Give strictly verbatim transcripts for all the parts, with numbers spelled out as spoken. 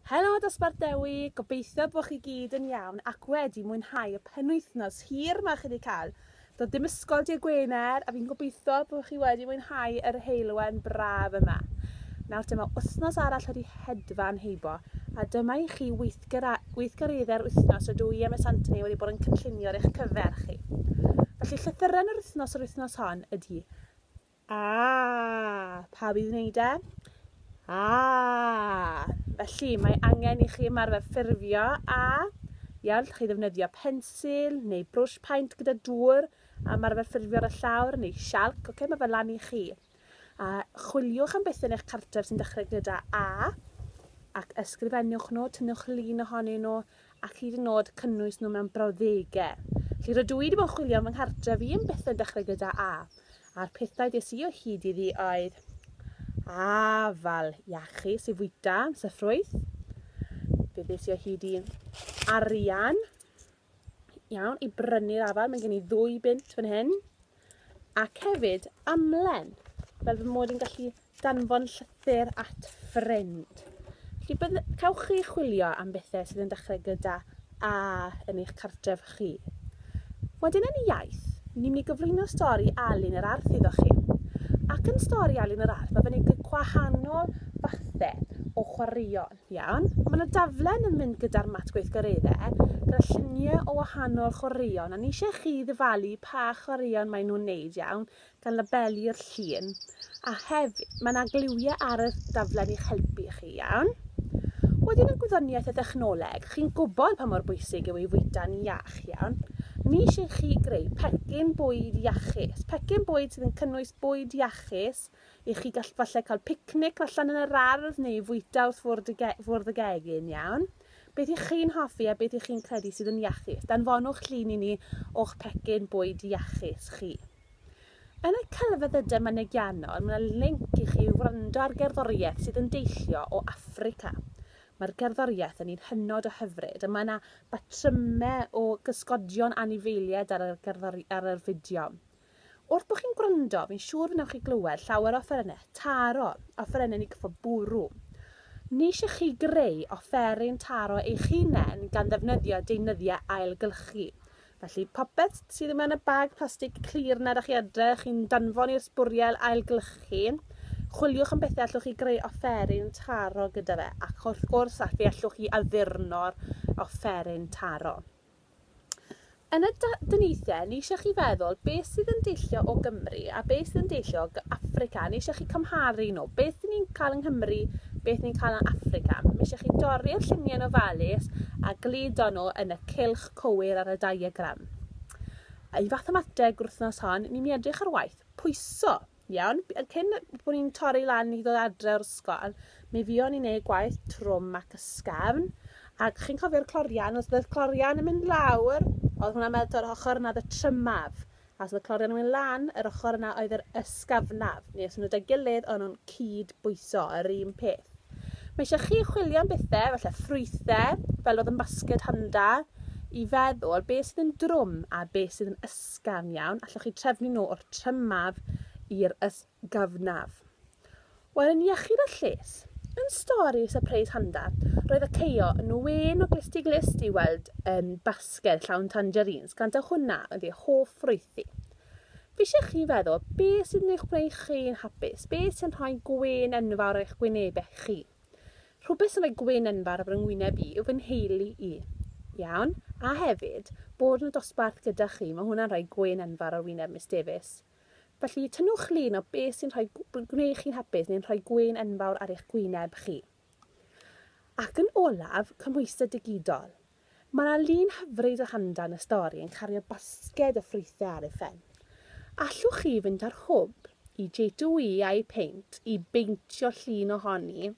Helo dosbarth Dewi, gobeithio bod chi gyd yn iawn ac wedi mwynhau y penwythnos hir ma chi wedi cael. Doedd dim ysgol dydd Gwener a fi'n gobeithio bod chi wedi mwynhau yr heulwen braf yma. Nawr dyma wythnos arall wedi hedfan heibo a dyma i chi weithgareddau'r wythnos rydw i a Miss Anthony wedi bod yn cynllunio ar eich cyfer chi. Felly llythyren yr wythnos yr wythnos hon ydy A. Pawb i wneud e? A. Felly mae angen i chi ymarfer ffurfio A. Iawn, allwch chi ddefnyddio pensil neu brwsh paent gyda dŵr a ymarfer ffurfio ar y llawr neu sialc, okay, mae fe lan i chi. A chwiliwch am bethau yn eich cartref sy'n dechrau gyda A ac ysgrifennwch nhw, tynnwch lun ohonyn nhw ac hyd yn oed cynnwys nhw mewn brawddegau. Felly rydw i wedi bod yn chwilio am fy nghartref i am bethau'n dechrau gyda A. A'r pethau des i o hyd iddi oedd afal iachus i fwyta, sef ffrwyth. Fe ddes i o hyd i arian, iawn, i brynu'r afal, mae gen i ddwy bunt fan hyn. Ac hefyd amlen, fel fy mod i'n gallu danfon llythyr at ffrind. Felly bydd, cewch chi chwilio am bethau sydd yn dechrau gyda A yn eich cartref chi. Wedyn yn iaith, ni'n mynd i gyflwyno stori Alun yr Arth iddo chi. Ac yn stori Alun yr Arth, mae fe'n ei gwahanol fathau o chwaraeon, iawn? Mae yna daflen yn mynd gyda'r mat gweithgareddau, gyda lluniau o wahanol chwaraeon, a ni eisiau chi ddyfalu pa chwaraeon maen nhw'n neud, iawn, gan labelu'r llun. A hefyd, mae yna gliwiau ar y daflen i'ch helpu chi, iawn? Wedyn yn gwyddoniaeth a thechnoleg, chi'n gwybod pa mor bwysig yw i fwyta'n iach, iawn? Ni eisiau chi greu pecyn bwyd iachus, pecyn bwyd sydd yn cynnwys bwyd iachus i chi gall falle cael picnic allan yn yr ardd neu fwyta wrth fwrdd y, ge fwrdd y gegin, iawn? Beth ych chi'n hoffi a beth ych chi'n credu sydd yn iachus? Danfonwch llun i ni o'ch pecyn bwyd iachus chi. Yn y celfyddydau mynegiannol, mae yna link i chi wrando ar gerddoriaeth sydd yn deillio o Affrica. Mae'r gerddoriaeth yn un hynod o hyfryd a mae yna batrymau o gysgodion anifeiliaid ar y, gerddori, ar yr fideo. Wrth bod chi'n gwrando, fi'n siŵr wnewch chi glywed llawer o offerynnau taro, offerynnau ni gyffo bwrw. Ni eisiau chi greu offeryn taro eich hunain gan ddefnyddio deunyddiau ailgylchu. Felly popeth sydd mewn y bag plastig clir na ydych chi adre, chi'n danfon i'r sbwriel ailgylchu, chwiliwch am bethau allwch chi greu offeryn taro gyda fe, ac wrth gwrs fe allwch chi addurno'r offeryn taro. Yn y dyniaethau, ni eisiau chi feddwl beth sydd yn deillio o Gymru a beth sydd yn deillio o Affrica. Ni eisiau chi cymharu nhw. Beth ni'n cael yng Nghymru, beth ni'n cael yn Affrica. Mae eisiau chi dorri'r lluniau yn ofalus a gludo nhw yn y cylch cywir ar y diagram. I fathemateg wythnos hon, ni'n mynd i edrych ar waith pwyso. Iawn, cyn bod ni'n torri lan i ddod adre o'r ysgol, mi fuon ni'n neud gwaith trwm ac ysgafn. Ac chi'n cofio'r clorian, os oedd y clorian yn mynd lawr, oedd hwnna'n meddwl yr ochr yna oedd y trymaf. A os oedd y clorian yn mynd lan, yr ochr yna oedd yr ysgafnaf. Neu os nhw 'da'i gilydd, o'n nhw'n cyd-bwyso, yr un peth. Mae eisiau chi chwilio am bethau, falle ffrwythau, fel oedd yn basged Handa, i feddwl beth sydd yn drwm a beth sydd yn ysgafn iawn. Allwch chi trefnu nhw o'r trymaf i'r ysgafnaf. Wel, yn iechyd a lles, yn stori Surprise Handa, roedd y Ceio yn wen o glust i glust i weld um, basged llawn tangerines, gan taw hwnna oedd ei hoff ffrwyth hi. Fi eisiau chi feddwl beth sydd yn eich gwneud chi'n hapus, beth sy'n rhoi gwên enfawr ar eich gwynebau chi. Rhywbeth sy'n rhoi gwên enfawr ar fy ngwyneb i yw fy nheulu i. Iawn? A hefyd, bod yn y dosbarth gyda chi, mae hwnna'n rhoi gwên enfawr ar wyneb Miss Davies. Felly, tynnwch lun o beth sy'n rhoi gwneud chi'n hapus neu'n rhoi gwên enfawr ar eich gwyneb chi. Ac yn olaf, cymhwyster digidol. Mae yna lun hyfryd o Handa yn y stori yn cario basged o ffrwythau ar ei phen. Allwch chi fynd ar hwb i J two E a'i Paint i beintio llun ohoni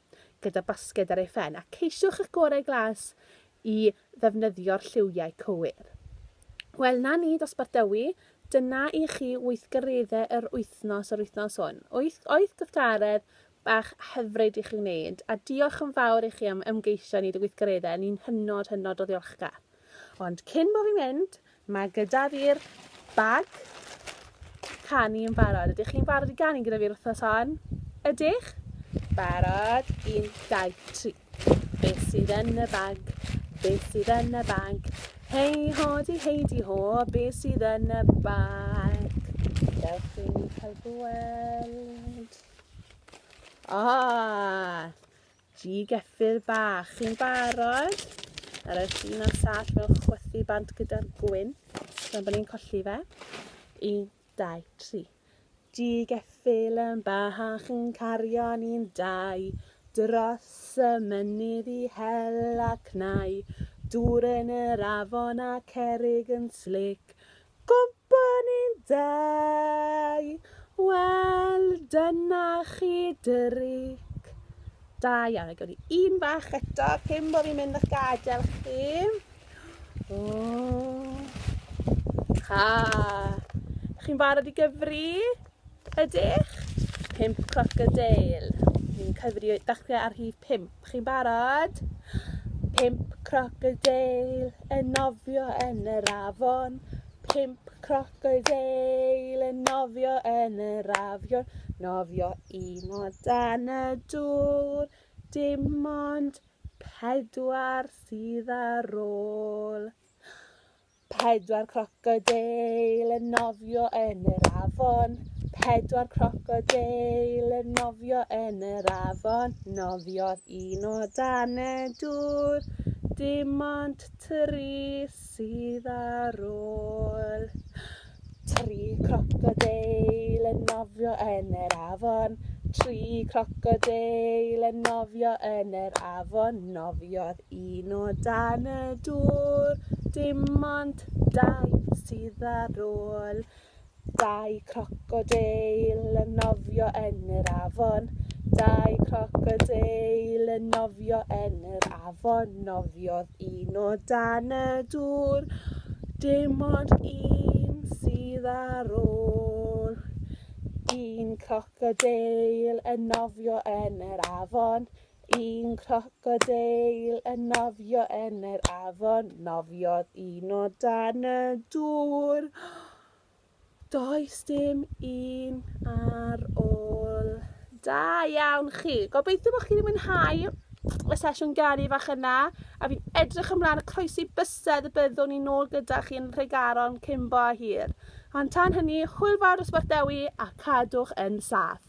gyda basged ar ei phen a ceisiwch eich gorau glas i ddefnyddio'r lliwiau cywir. Wel, na ni, dosbarth Dewi, dyna i chi weithgareddau yr wythnos yr wythnos hwn. Wyth, wyth gweithgaredd bach hyfryd i chi wneud, a diolch yn fawr i chi am ymgeisio i wneud y gweithgareddau, ni'n hynod, hynod o ddiolchgar. Ond cyn bo fi'n mynd, mae gyda fi'r bag canu yn barod. Ydych chi'n barod i ganu gyda fi'r wythnos hon? Ydych? Barod, un, dau, tri. Beth sydd yn y bag? Beth sydd yn y bag? Hei ho di hei di ho, beth sydd yn y bag? Dewch i ni cael gweld. Ah, G geffyl bach. Chi'n barod? Ar y llun a'r sall mewn chwythu bant gyda'r gwynt. Dyna bod ni'n colli fe. Un, dau, tri. G geffyl yn bach yn cario ni'n dau. Dros y mynydd i hel a cnau. Dŵr yn yr afon a cerrig yn slic. Gwmpo ni'n dau. Wel, dyna chi dric. Da iawn, gawn ni un bach eto cyn bod fi'n mynd a'ch gadael chi. O. Ha. Chi'n barod i gyfri? Ydych? Pump crocodeil. Ni'n cyfri dechrau ar rhif pump. Chi'n barod? Pump crocodeil yn nofio yn yr afon. Pump crocodeil yn nofio yn yr afion. Nofio un o dan y dŵr. Dim ond pedwar sydd ar ôl. Pedwar crocodeil yn nofio yn yr afon. Pedwar crocodeil yn nofio yn yr afon. Nofiodd un o dan y dŵr. Dim ond tri sydd ar ôl. Tri crocodeil yn nofio yn yr afon. Tri crocodeil yn nofio yn yr afon. Nofiodd un o dan y dŵr. Dim ond dau sydd ar ôl. Dau crocodeil yn nofio yn yr afon. Dau crocodeil yn nofio yn yr afon. Nofiodd un o dan y dŵr. Dim ond un sydd ar ôl. Un crocodeil yn nofio yn yr afon. Un crocodeil yn nofio yn yr afon. Nofiodd un o dan y dŵr. Does dim un ar ôl. Da iawn chi. Gobeithio bod chi wedi mwynhau y sesiwn ganu fach yna, a fi'n edrych ymlaen y croesi bysedd y byddwn ni nôl gyda chi yn Nhregaron cyn bo hir. Ond tan hynny, hwyl fawr dosbarth Dewi a cadwch yn saff.